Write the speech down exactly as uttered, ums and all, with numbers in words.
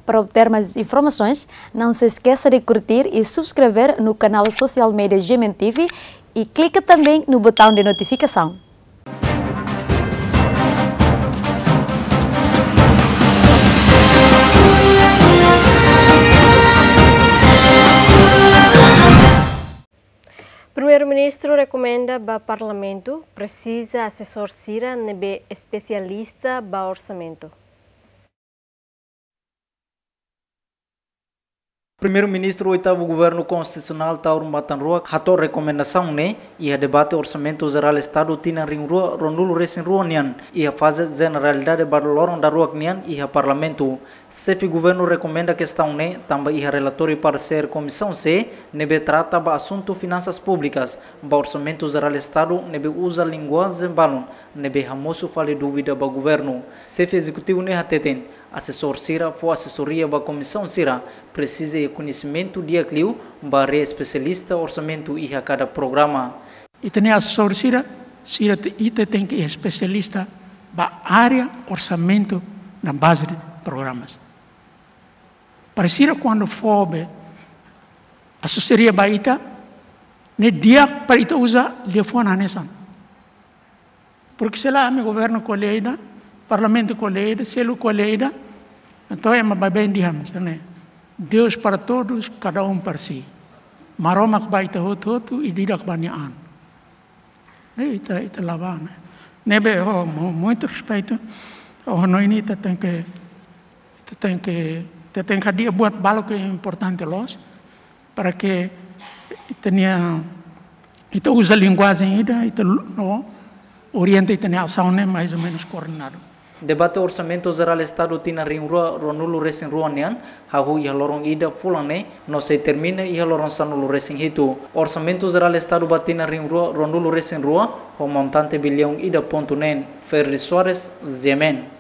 Para obter mais informações, não se esqueça de curtir e subscrever no canal social media G M N T V e clica também no botão de notificação. Primeiru-Ministru rekomenda ba Parlamentu presiza asesór sira ne'ebé espesialista ba orsamentu. Primeiru-Ministru oitavu Governu Konstitusionál Taur Matan Ruak hato'o rekomendasaun ne'e iha debate Orsamentu Jerál Estadu tinan rihun rua ruanulu resin rua nian iha faze jeneralidade ba loron daruak nian iha Parlamentu. Xefe Governu rekomenda kestaun ne'e tanba iha relatóriu paresér Komisaun C ne'ebé trata ba asuntu finansas públikas ba Orsamentu Jerál Estadu ne'ebé uza linguajen balun ne'ebé hamosu fali dúvida ba Governu. Xefe Ezekutivu ne'e hateten, asesór sira fó asesoria ba komisaun sira presiza iha koñesimentu di'ak liu ba área espesialista orsamentu iha kada programa. Ita-nia asesór sira, sira te, ita tenke espesialista ba área orsamentu na baze de programas. Para sira kuandu fó be asesoria ba ita, ne'e di'ak para ita uza liafuan hanesan. Porque se lae ami governu ko'alia ida, parlamentu ko'alia ida, seluk ko'alia ida, entaun ema baibain dehan hanesan ne'e: Deus para todos, cada um para si. Maromak ba ita hotu-hotu, ida-idak ba nia an. Ne'e ita, ita la bá, ne'e. Ne'ebé, ho mu-, muito respeito, ho hanoin ne'e ita tenke, ita tenke, ita tenke hadi'a buat balu ke importante loos, para que ita-nia, ita uza linguajen ida, ita lu-, no, orienta ita-nia asaun ne'e mais ou menos koordenadu. Debate Orsamentu Jerál Estadu tinan rihun rua ruanulu resin rua nian hahú iha loron ida fulan ne'e no sei termina iha loron sanulu resin hitu. Orsamentu Jerál Estadu ba tinan rihun rua ruanulu resin rua ho montante biliaun ida pontu neen. Ferdi Soares, G M N.